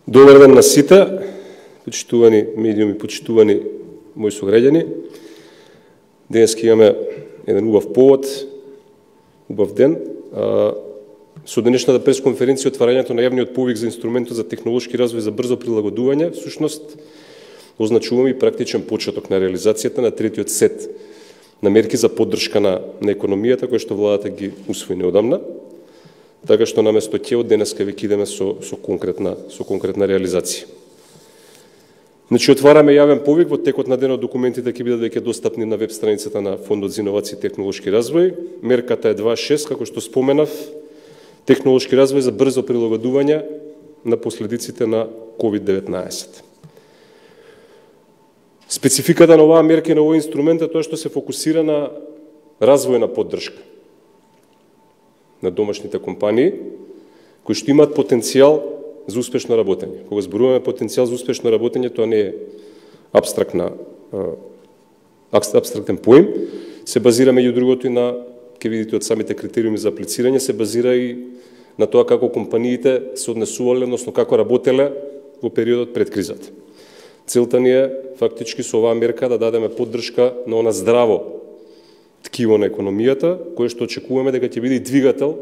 Добар ден на сите, почитувани медиуми, почитувани мои сограѓани. Денеска имаме еден убав повод, убав ден. Со денешната пресконференција отварањето на јавниот повик за инструментот за технолошки развој за брзо прилагодување, всушност означуваме и практичен почеток на реализацијата на третиот сет на мерки за поддршка на економијата, кои што владата ги усвои неодамна. Така што наместо ќе од денеска веќе идеме со конкретна реализација. Значи отвараме јавен повик, во текот на денот документите ќе бидат веќе достапни на веб страницата на Фондот за иновации и технолошки развој. Мерката е 2.6, како што споменав, технолошки развој за брзо прилагодување на последиците на COVID-19. Спецификата на оваа мерка и на овој инструмент е тоа што се фокусира на развојна поддршка на домашните компании, кои што имаат потенцијал за успешно работење. Кога зборуваме потенцијал за успешно работење, тоа не е абстрактен поим, се базира меѓу другото и на, ќе видите од самите критериуми за аплицирање, се базира и на тоа како компаниите се однесувале, односно како работеле во периодот пред кризата. Целта ни е фактички со оваа мерка да дадеме поддршка на она здраво ткиво на економијата, кое што очекуваме дека ќе биде и двигател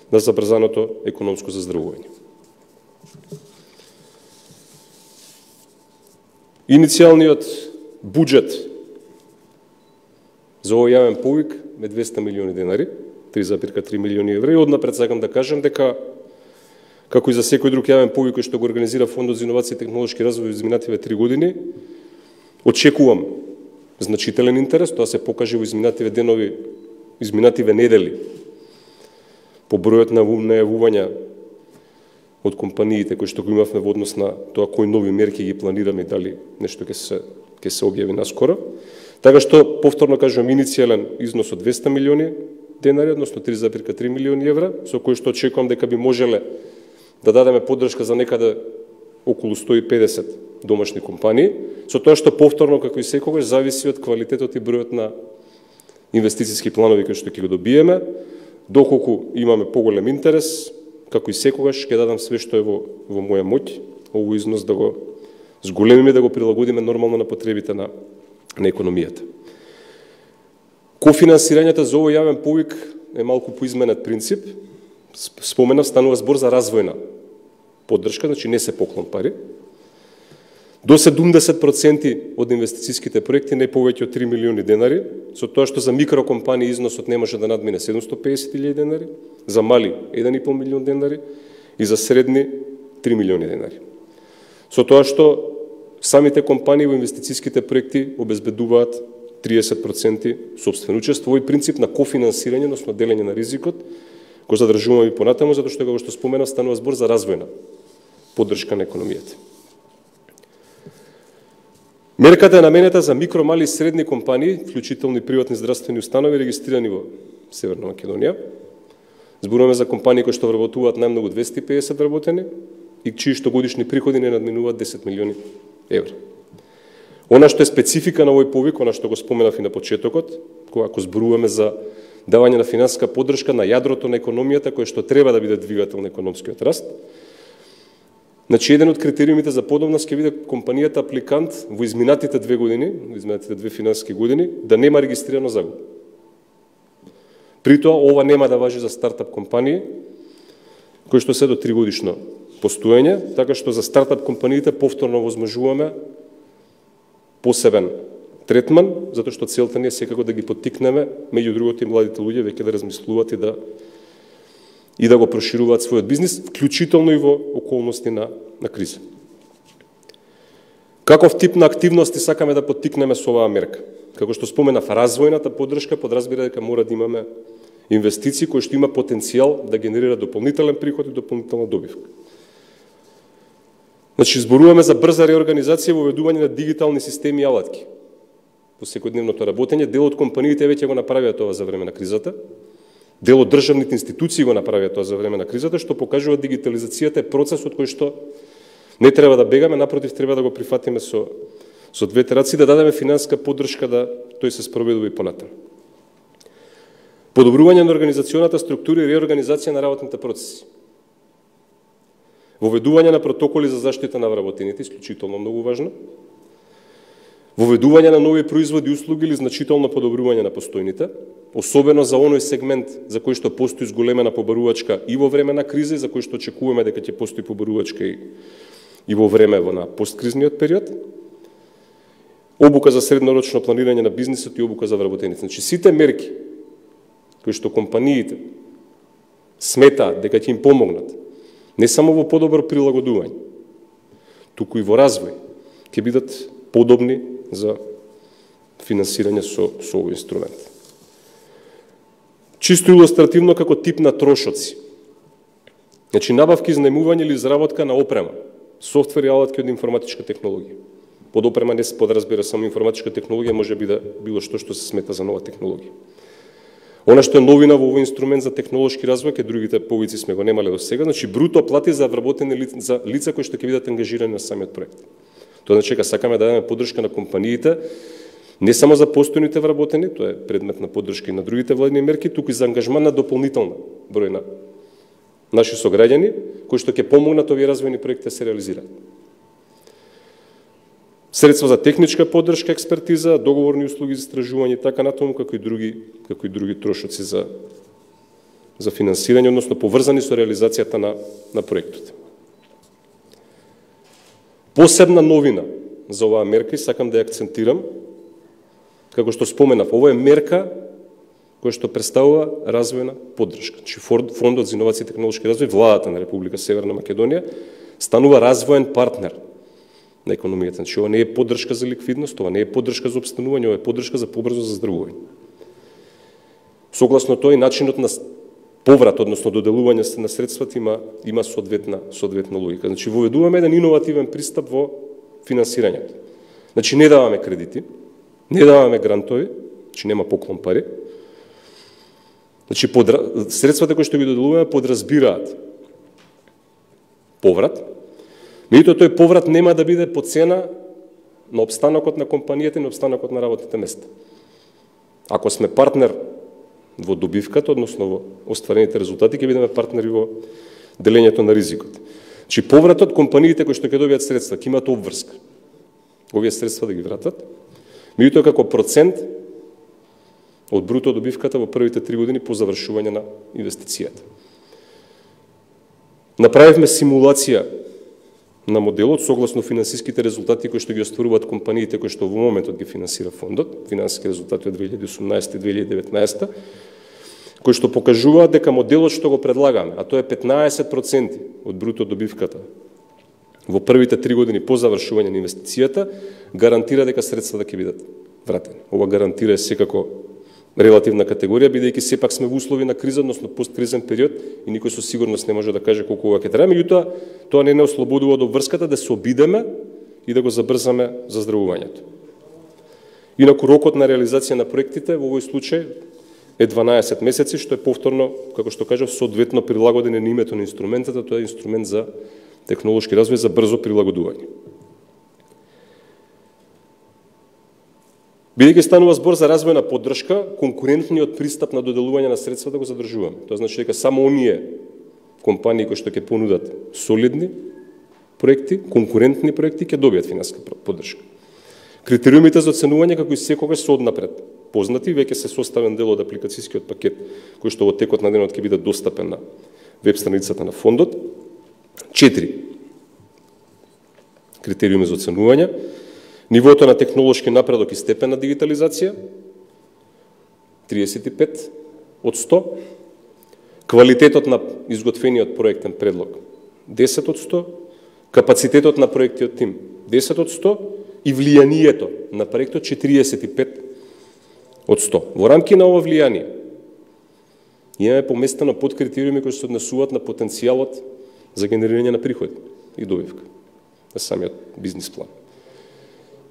на забрзаното економско заздравување. Иницијалниот буџет за овој јавен повик е 200 милиони денари, 3,3 милиони евра, и однапред сакам да кажам дека како и за секој друг јавен повик кој што го организира Фондот за иновации и технолошки развој во изминативе 3 години, очекувам значителен интерес, тоа се покаже во изминативе денови, изминативе недели, по бројот на најавувања од компаниите кои што го имавме во однос на тоа кои нови мерки ги планираме и дали нешто ќе се објави наскоро. Така што, повторно кажувам, иницијален износ од 200 милиони денари, односно 3,3 милиони евра, со кои што очекувам дека би можеле да дадеме поддршка за некаде околу 150 домашни компании, со тоа што повторно, како и секогаш, зависи од квалитетот и бројот на инвестициски планови кои што ќе го добиеме. Доколку имаме поголем интерес, како и секогаш, ќе дадам све што е во моја моќ, овој износ да го зголемиме, да го прилагодиме нормално на потребите на економијата. Кофинансирањето за овој јавен повик е малку поизменет принцип. Споменав, станува збор за развојна поддршка, значи не се поклон пари. До 70% од инвестицијските проекти, не повеќе од 3 милиони денари, со тоа што за микрокомпании износот не може да надмине 750.000 денари, за мали 1,5 милион денари и за средни 3 милиони денари. Со тоа што самите компании во инвестицијските проекти обезбедуваат 30% собствено учество. Овој принцип на кофинансирање, односно делење на ризикот, го задржуваме и понатаму, затоа што, како што споменав, станува збор за развојна поддршка на економијата. Мерката е наменета за микро, мали и средни компании, вклучително и приватни здравствени установи, регистрирани во Северна Македонија. Зборуваме за компании кои што вработуваат најмногу 250 работени и чии што годишни приходи не надминуваат 10 милиони евра. Она што е специфика на овој повик, она што го споменав и на почетокот, кога ако зборуваме за давање на финансиска поддршка на јадрото на економијата, кој што треба да биде двигател на економскиот раст. Значи, еден од критериумите за подобност ќе биде компанијата апликант во изминатите 2 години, во изминатите 2 финансиски години, да нема регистрирано загуба. При тоа, ова нема да важи за стартап компании, кои што се до 3 годишно постоење, така што за стартап компаниите повторно возможуваме посебен третман, затоа што целта не е секако да ги поттикнеме, меѓу другото и младите луѓе веќе да размислуваат и да го прошируваат својот бизнис, вклучително и во околности на криза. Каков тип на активности сакаме да поттикнеме со оваа мерка? Како што споменав, развојната поддршка подразбира дека мора да имаме инвестиции кои што има потенцијал да генерира дополнителен приход и дополнителна добивка. Значи, зборуваме за брза реорганизација во воведување на дигитални системи и алатки во секојдневното работење. Дел од компаниите веќе го направија тоа за време на кризата. Дел од државните институции го направија тоа за време на кризата, што покажува дигитализацијата е процес од кој што не треба да бегаме, напротив, треба да го прифатиме со двете раци, да дадеме финансиска поддршка да тој се спроведува и понатаму. Подобрување на организационата структура и реорганизација на работните процеси. Воведување на протоколи за заштита на вработените, исклучително многу важно. Воведување на нови производи и услуги или значително подобрување на постојните, особено за оној сегмент за кој што постои зголемена побарувачка и во време на криза, и за кој што очекуваме дека ќе постои побарувачка и во време на посткризниот период. Обука за среднорочно планирање на бизнисот и обука за вработените. Значи, сите мерки кои што компаниите сметаат дека ќе им помогнат, не само во подобро прилагодување, туку и во развој, ќе бидат подобни за финансирање со овој инструмент. Чисто илустративно како тип на трошоци. Значи, набавки, изнаемување или изработка на опрема, софтвер и алатки од информатичка технологија. Под опрема не се подразбира само информатичка технологија, може би да било што се смета за нова технологија. Она што е новина во овој инструмент за технолошки развој, ке другите повици сме го немале до сега, значи бруто плати за вработени за лица кои што ќе бидат ангажирани на самиот проект. Тоа значи дека сакаме да дадеме поддршка на компаниите, не само за постојните вработени, тоа е предмет на поддршка и на другите владини мерки, туку и за ангажман на дополнителна број на наши сограѓани, кои што ќе помогнат овие развојни проекти да се реализираат. Средства за техничка поддршка, експертиза, договорни услуги за истражување и така натаму, како и други трошоци за финансирање, односно поврзани со реализацијата на проектот. Посебна новина за оваа мерка и сакам да ја акцентирам, како што споменав, ова е мерка која што представува развојна поддршка. Значи, Фондот за инновации и технолошки развој, владата на Република Северна Македонија, станува развоен партнер на економијата. Значи, ова не е поддршка за ликвидност, ова не е поддршка за опстанување, ова е поддршка за побрзо заздравување. Согласно тој, начинот на поврат, односно доделување на средствата има соодветна логика. Значи, воведуваме еден иновативен пристап во финансирањето. Значи, не даваме кредити, не даваме грантови, значи нема поклон пари. Значи, средствата кои што ги доделуваме подразбираат поврат, меѓутоа тој поврат нема да биде по цена на опстанокот на компанијата и на опстанокот на работните места. Ако сме партнер во добивката, односно во остварените резултати, ќе бидеме партнери во делењето на ризикот. Значи, повратот, компаниите кои што ќе добијат средства, ќе имаат обврска овие средства да ги вратат, меѓутоа како процент од бруто добивката во првите 3 години по завршување на инвестицијата. Направивме симулација на моделот согласно финансиските резултати кои што ги остваруваат компаниите кои што во моментот ги финансира фондот, финансиски резултати од 2018 и 2019, кои што покажуваат дека моделот што го предлагаме, а тоа е 15% од бруто добивката во првите 3 години по завршување на инвестицијата, гарантира дека средствата ќе бидат вратени. Ова гарантира е секако релативна категорија, бидејќи сепак сме во услови на криза, односно посткризен период и никој со сигурност не може да каже колку ова ќе трае, меѓутоа тоа не ослободува од обврската да се обидеме и да го забрзаме заздравувањето. Инаку рокот на реализација на проектите во овој случај е 12 месеци, што е повторно, како што кажав, соодветно прилагодење на името на инструментата, тоа е инструмент за технолошки развој за брзо прилагодување. Бидејќи станува збор за развојна поддршка, конкурентниот пристап на доделување на средства да го задржуваме. Тоа значи дека само оние компании кои што ќе понудат солидни проекти, конкурентни проекти, ќе добијат финансиска поддршка. Критериумите за оценување како и секогаш се однапред познати, веќе се составен дел од апликацијскиот пакет, кој што во текот на денот ќе биде достапен на веб страницата на фондот. 4 критериуми за оценување: нивото на технолошки напредок и степен на дигитализација 35 од 100, квалитетот на изготвениот проектен предлог 10 од 100, капацитетот на проектиот тим 10 од 100 и влијанието на проектот 45 од 100. Во рамки на ова влијание имаме поместено подкритериуми кои се однесуваат на потенцијалот за генерирање на приходи и добивка на самиот бизнис план.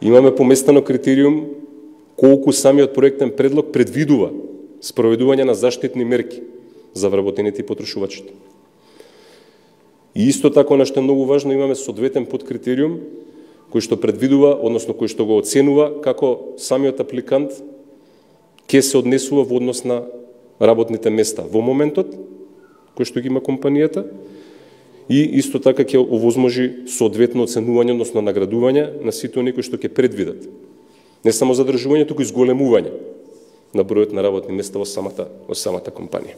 Имаме поместено критериум колку самиот проектен предлог предвидува спроведување на заштитни мерки за вработените и потрошувачите. И исто така, она што е многу важно, имаме соодветен подкритериум кој што предвидува, односно кој што го оценува како самиот апликант ќе се однесува во однос на работните места во моментот кој што ги има компанијата и исто така ќе овозможи соодветно оценување, односно наградување на сите оние кои што ќе предвидат не само задржување, туку и зголемување на бројот на работни места во самата компанија.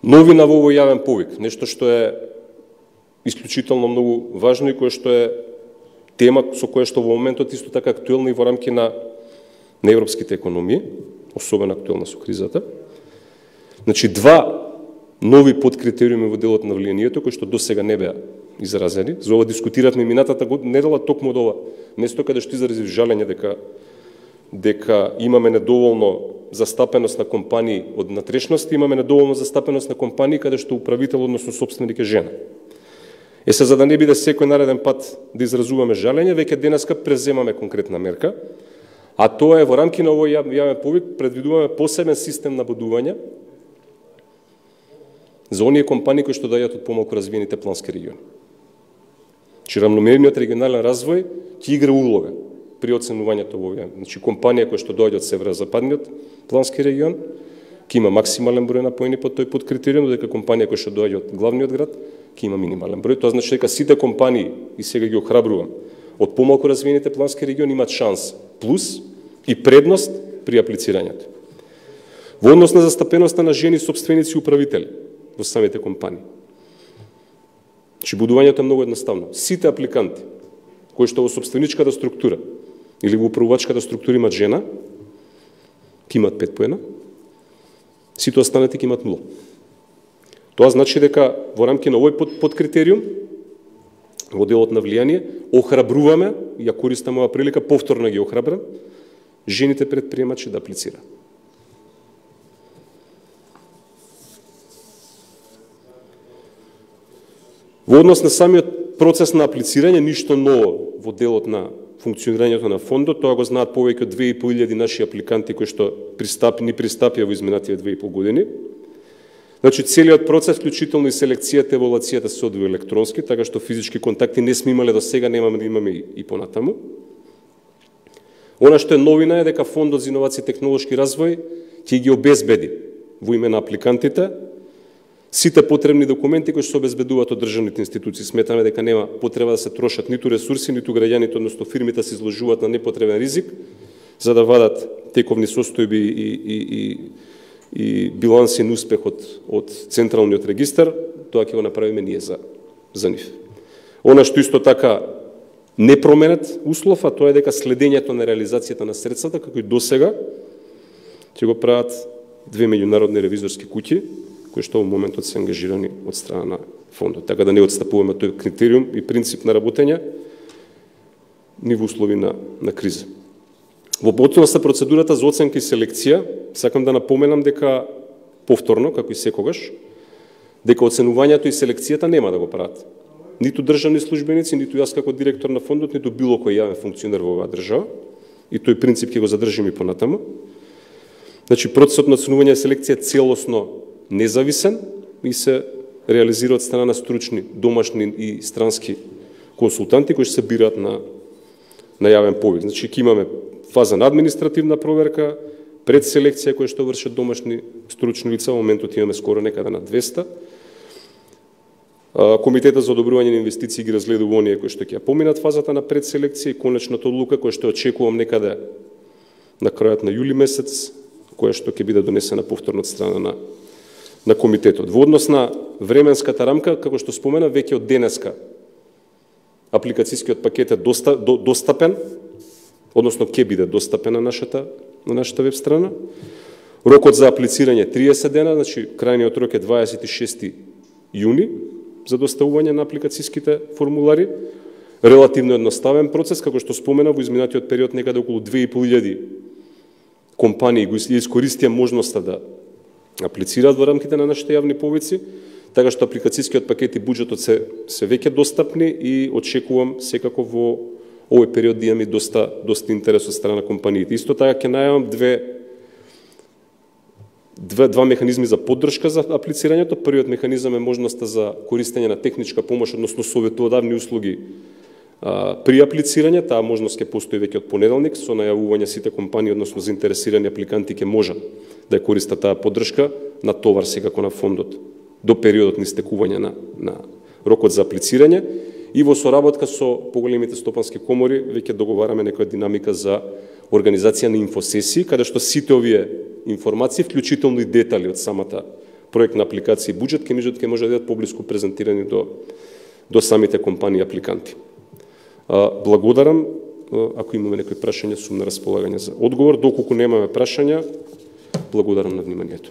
Новина во овој јавен повик, нешто што е исклучително многу важно и кое што е тема со која што во моментот исто така актуелна и во рамки на европските економии, особено актуелна со кризата. Значи, два нови подкритериуми во делот на влијанието, кои што досега не беа изразени. За ова дискутиравме минатата недела токму од ова место, каде што изразив жалење дека имаме недоволно застапеност на компании од натрешност, имаме недоволно застапеност на компании каде што управител, односно собственик е жена. Се за да не биде секој нареден пат да изразуваме жалење, веќе денеска преземаме конкретна мерка, а тоа е во рамки на овој јавен повик предвидуваме посебен систем на бодување за оние компании кои што доаѓаат од помалку развиените плански региони. Че рамномерниот регионален развој ќе игра улога при оценувањето во овој. Значи, компанија која што доаѓа од северозападниот плански регион ќе има максимален број напоени под тој подкритериум, додека компанија која што доаѓа од главниот град ќе има минимален број. Тоа значи дека сите компании, и сега ги охрабрувам, од помалку развиените плански региони имаат шанс, плюс и предност при аплицирањето. Во однос на застапеноста на жени собственици и управители во самите компании. Значи, будувањето е многу едноставно. Сите апликанти кои што во собственичката структура или во управувачката структура имат жена, ќе имат 5 поена, сите останати ќе имат 0. Тоа значи дека во рамки на овој подкритериум, во делот на влијание, охрабруваме, ја користам ова прилика, повторно ги охрабрам, жените предприемачи да аплицираат. Во однос на самиот процес на аплицирање, ништо ново во делот на функционирањето на фондот, тоа го знаат повеќе од 2500 наши апликанти кои што пристапија во изминативе 2,5 години. Значи, целиот процес, вклучително и селекцијата, еволуацијата се одвива електронски, така што физички контакти не сме имале до сега, немаме да имаме и понатаму. Она што е новина е дека Фондот за иновации и технолошки развој ќе ги обезбеди во име на апликантите сите потребни документи кои се обезбедуваат од државните институции. Сметаме дека нема потреба да се трошат ниту ресурси, ниту граѓаните, односно фирмите се изложуваат на непотребен ризик за да вадат тековни состојби и билансен успех од централниот регистар. Тоа ќе го направиме ние за нив. Она што исто така не променет услов, а тоа е дека следењето на реализацијата на средствата, како и досега, ќе го прават 2 меѓународни ревизорски куќи, кои што во моментот се ангажирани од страна на фондот. Така да не отстапуваме тој критериум и принцип на работење ни во услови на криза. Во поточност на процедурата за оценка и селекција, сакам да напоменам дека повторно, како и секогаш, дека оценувањето и селекцијата нема да го прават ниту државни службеници, ниту јас како директор на фондот, ниту било кој јавен функционер во оваа држава, и тој принцип ќе го задржиме и понатаму. Значи, процесот на оценување и селекција е целосно независен и се реализира од страна на стручни, домашни и странски консултанти кои се бираат на јавен повик. Значи, ќе имаме фаза на административна проверка, пред селекција која што вршат домашни стручни лица, во моментот имаме скоро некаде на 200. Комитетот за одобрување на инвестиции ги разгледува оние кои што ќе поминат фазата на предселекција и конечната одлука која што очекувам некаде на крајот на јули месец, која што ќе биде донесена повторно од страна на комитетот. Во однос на временската рамка, како што спомена, веќе од денеска апликацијскиот пакет е достапен, односно ќе биде достапен на нашата веб страна. Рокот за аплицирање 30 дена, значи крајниот рок е 26 јуни за доставување на апликацијските формулари. Релативно едноставен процес, како што спомена, во изминатиот период некаде околу 2500 компании го искористија можноста да аплицираат во рамките на нашите јавни повици, така што апликацијскиот пакет и буџетот се веќе достапни и очекувам секако во овој период да имаме доста интерес од страна на компаниите. Исто така ќе најавам два механизми за поддршка за аплицирањето. Првиот механизам е можноста за користење на техничка помош, односно советодавни услуги при аплицирање. Таа можност ќе постои веќе од понеделник, со најавување сите компании, односно заинтересирани апликанти ќе можат да ја користат таа поддршка, на товар секако на фондот до периодот на истекување на рокот за аплицирање и во соработка со поголемите стопански комори веќе договараме некоја динамика за организација на инфосесии, каде што сите овие информации, вклучително и детали од самата проектна апликација и буџет, ќе може да бидат поблиску презентирани до самите компании апликанти. Благодарам. Ако имаме некои прашања, сум на располагање за одговор. Доколку немаме прашања, благодарам на вниманието.